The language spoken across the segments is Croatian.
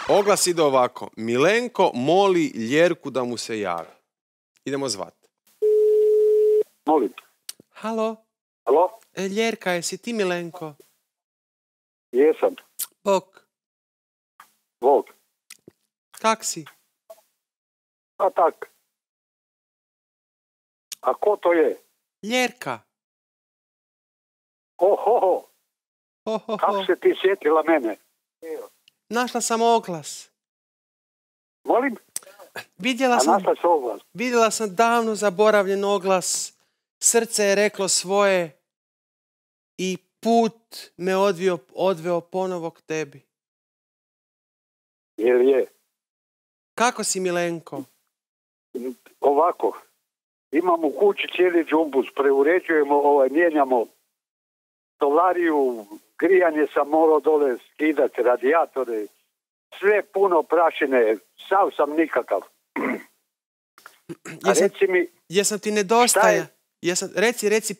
Oglas ide ovako. Milenko moli Ljerku da mu se javi. Idemo zvat. Molim. Halo? Alo? Ljerka, jesi ti Milenko? Jesam. Bok. Bog. Kak si? A tak. A ko to je? Ljerka. Ohoho. Ho. Kako se ti sjetila mene? Našla sam oglas. Molim? Vidjela sam davno zaboravljen oglas. Srce je reklo svoje i put me odveo ponovo k tebi. Jer je. Kako si, Milenko? Ovako. Imamo u kući cijeli džumbus. Preuređujemo, mijenjamo stolariju, grijanje sam morao dole skidati, radijatore. Sve puno prašine. Sav sam nikakav. Reci mi... Jesam ti nedostaja? Reci,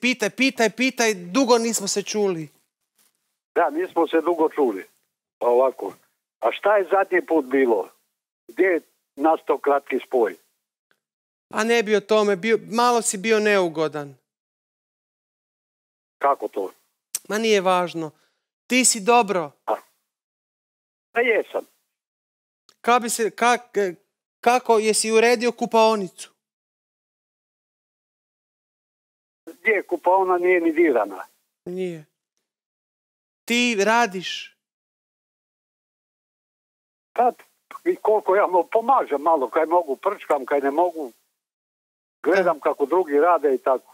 pitaj, dugo nismo se čuli. Da, nismo se dugo čuli. Ovako. A šta je zadnji put bilo? Gdje je nastao kratki spoj? A ne bi o tome, malo si bio neugodan. Kako to? Ma nije važno. Ti si dobro. Pa jesam. Kako, jesi uredio kupaonicu? Gdje, kupaona nije ni dirana. Nije. Ti radiš? Kad i koliko ja pomažem malo, kaj mogu, prčkam, kaj ne mogu. Gledam kako drugi rade i tako.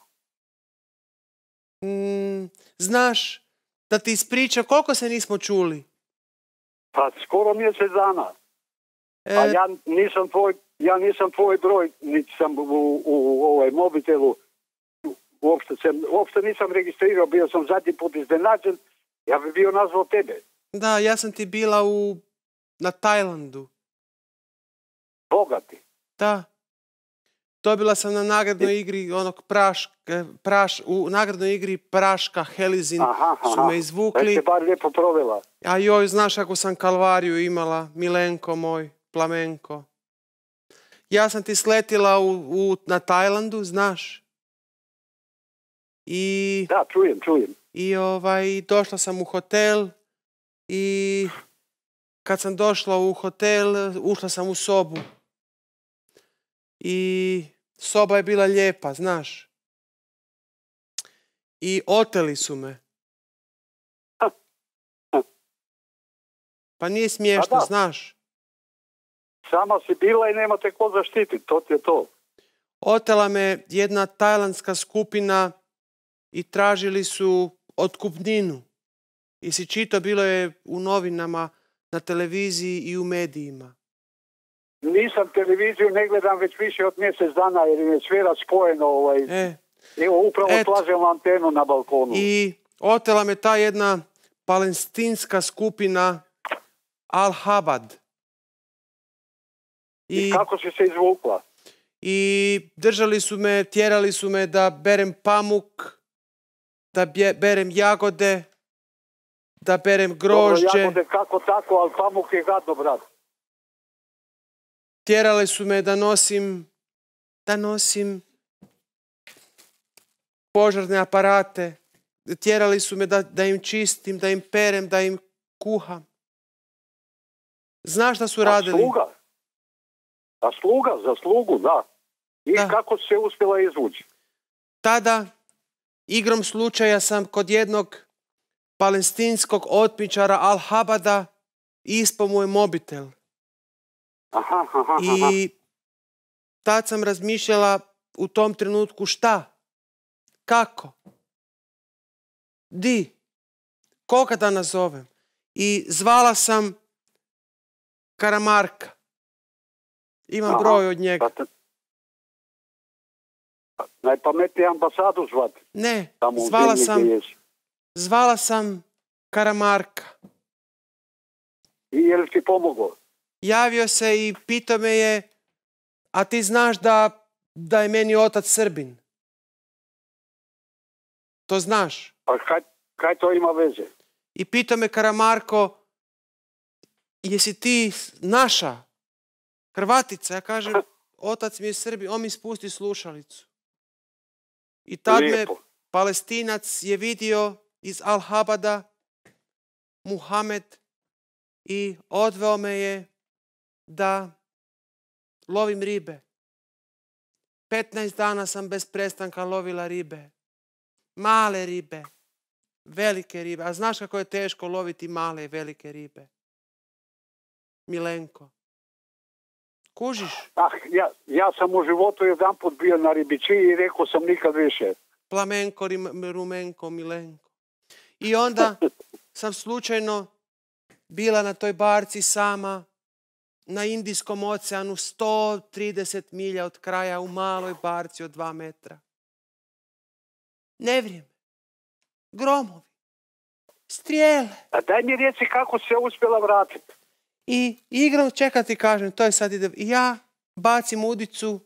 Znaš, da ti ispričam, koliko se nismo čuli? Pa skoro mjesec dana. A ja nisam tvoj broj, niti sam u mobitelu. Uopšte nisam registrirao, bio sam zadnji put iznenađen, ja bi bio nazvao tebe. Da, ja sam ti bila na Tajlandu. Bogati. Da. Dobila sam na nagradnoj igri u nagradnoj igri Praška Helizin su me izvukli. Da se bar lijepo provela. A joj, znaš kako sam kalvariju imala, Milenko moj, plamenko. Ja sam ti sletila na Tajlandu, znaš? Da, čujem. I došla sam u hotel i kad sam došla u hotel, ušla sam u sobu. I soba je bila lijepa, znaš. I oteli su me. Pa nije smiješno, znaš. Sama si bila i nema te ko zaštititi, to ti je to. Otela me jedna tajlandska skupina i tražili su otkupninu. I si čito, bilo je u novinama, na televiziji i u medijima. Nisam televiziju, ne gledam već više od mjesec dana jer je sve raspojeno. Evo, upravo slažem antenu na balkonu. I otela me ta jedna palestinska skupina Al-Habad. I kako si se izvukla? I držali su me, tjerali su me da berem pamuk, da berem jagode, da berem grožđe. Dobro, jagode kako tako, ali pamuk je gadno, brat. Tjerali su me da nosim požarne aparate. Tjerali su me da im čistim, da im perem, da im kuham. Znaš šta su radili? Za slugu, da. I kako se uspjela izvući? Tada, igrom slučaja sam kod jednog palestinskog otmičara Al-Habada ispao mu je mobitel. I tad sam razmišljala u tom trenutku šta? Kako? Koga da nazovem? I zvala sam Karamarka. Imam broj od njega. Najpametnije ambasadu zvati. Ne, zvala sam Karamarka. I je li ti pomoglo? Javio se i pitao me je, a ti znaš da je meni otac Srbin? To znaš? Pa kaj to ima veze? I pitao me Karamarko, jesi ti naša Hrvatica? Ja kažem, otac mi je Srbi, on mi spusti slušalicu. I tad me Palestinac je vidio iz Al-Habada, Muhamed, i odveo me je da lovim ribe. 15 dana sam bez prestanka lovila ribe. Male ribe, velike ribe. A znaš kako je teško loviti male i velike ribe? Milenko. Kužiš? Ja sam u životu jedan put bio na ribiči i rekao sam nikad više. Plamenko, rumenko, Milenko. I onda sam slučajno bila na toj barci sama na Indijskom oceanu 130 milja od kraja u maloj barci od 2 metra. Nevrijeme, gromovi, strijele. A daj mi reci kako se uspjela vratiti. I igram, čekaj ti kažem, to je sad ide. I ja bacim udicu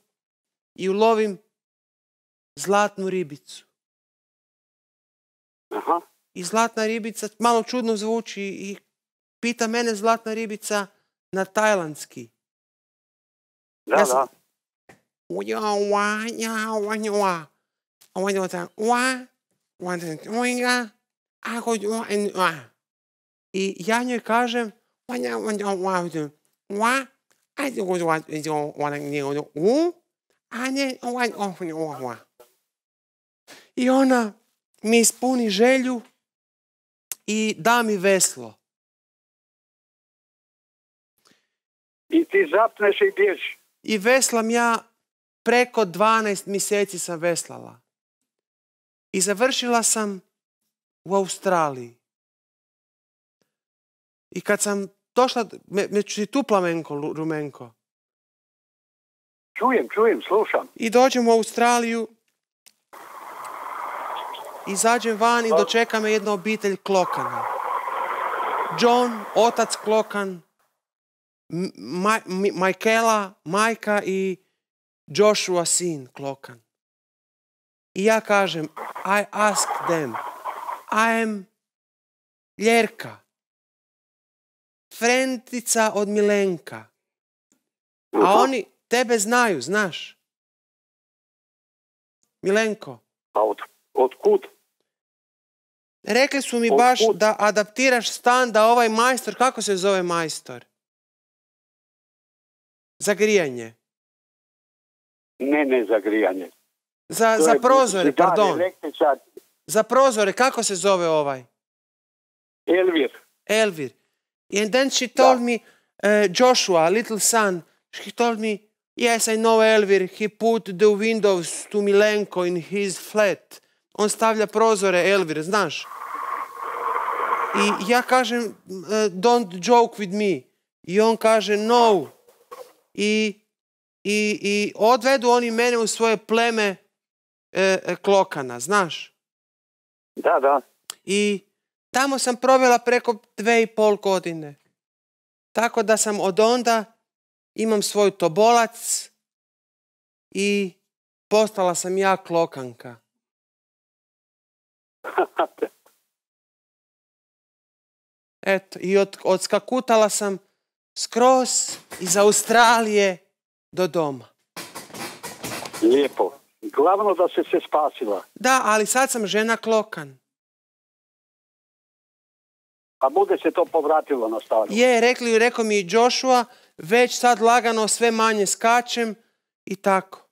i ulovim zlatnu ribicu. Aha. I zlatna ribica, malo čudno zvuči, i pita mene zlatna ribica na tajlandski. Da, da. I ja njoj kažem i ona mi ispuni želju i da mi veslo. I ti zapneš i ideš. I veslam ja, preko 12 mjeseci sam veslala. I završila sam u Australiji. I kad sam došla, među tu Plamenko, Rumenko. Čujem, slušam. I dođem u Australiju, izađem van i dočeka me jedna obitelj Klokana. John, otac Klokan, Michaela, majka i Joshua, sin Klokan. I ja kažem, I ask them, I am Ljerka, frentica od Milenka. A oni tebe znaju, znaš. Milenko. A od kud? Rekli su mi baš da adaptiraš stan, da ovaj majstor, kako se zove majstor? Za grijanje. Ne za grijanje. Za prozore, pardon. Za prozore, kako se zove ovaj? Elvir. And then she told me, Joshua, little son, she told me, yes, I know Elvir, he put the windows to Milenko in his flat. On stavlja prozore, Elvir, znaš? I ja kažem, don't joke with me. I on kaže, no. I odvedu oni mene u svoje pleme Klokana, znaš? Da. I tamo sam provela preko 2,5 godine. Tako da sam od onda imam svoj tobolac i postala sam ja Klokanka. Eto, i odskakutala sam skroz iz Australije do doma. Lijepo. Glavno da se spasila. Da, ali sad sam žena Klokan. A bude se to povratilo na staro? Rekao mi i Joshua, već sad lagano sve manje skačem i tako.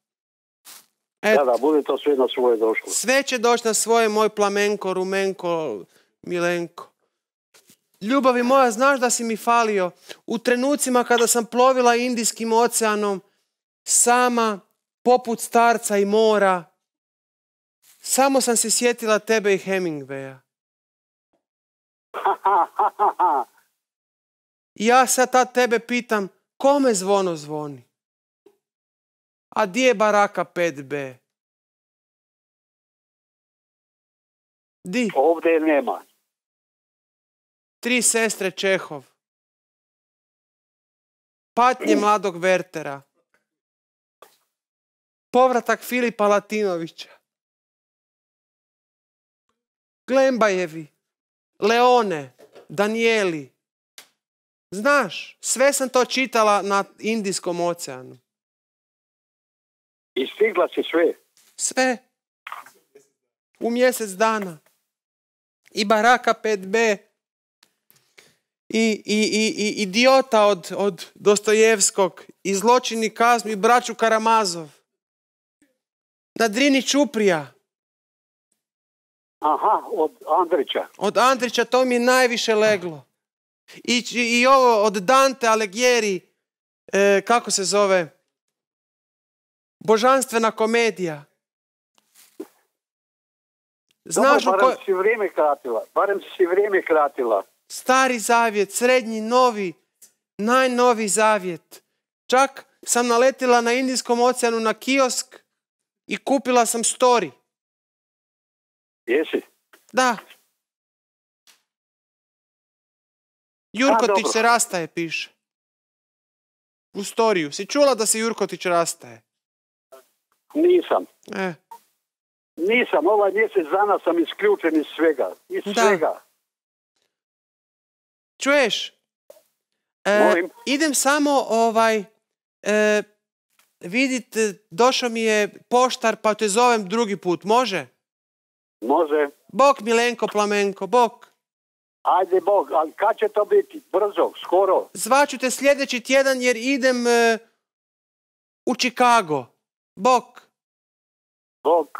Eto. Da, bude to sve na svoje došlo. Sve će doći na svoje, moj Plamenko, Rumenko, Milenko. Ljubavi moja, znaš da si mi falio. U trenucima kada sam plovila Indijskim oceanom, sama, poput starca i mora, samo sam se sjetila tebe i Hemingwaya. Ja sad tad tebe pitam, kome zvono zvoni? A di je baraka 5B? Di? Ovdje nema. 3 sestre Čehov. Patnje mladog Vertera. Povratak Filipa Latinovića. Glembajevi, Leone, Danijeli, Znaš, sve sam to čitala na Indijskom oceanu. I stigla si sve? Sve. U mjesec dana. I Baraka 5b. I Idiota od Dostojevskog. I Zločin i kaznu. I Braću Karamazov. Na Drini Čuprija. Aha, od Andrića. Od Andrića to mi je najviše leglo. I ovo od Dante Alighieri, kako se zove? Božanstvena komedija. Znaš barem si vrijeme kratila. Stari zavjet, srednji, novi, najnoviji zavjet. Čak sam naletila na Indijskom oceanu na kiosk i kupila sam Story. Jesi? Da. Jurkotić se rastaje, piše. U storiju. Si čula da se Jurkotić rastaje? Nisam. Nisam. Ovaj mjesec dana sam isključen iz svega. Svega. Čuješ? Idem samo vidit, došao mi je poštar pa te zovem drugi put. Može? Može. Bok Milenko Plamenko, bok. Ajde bok, ali kad će to biti? Brzo, skoro? Zvaću te sljedeći tjedan jer idem u Chicago. Bok. Bok.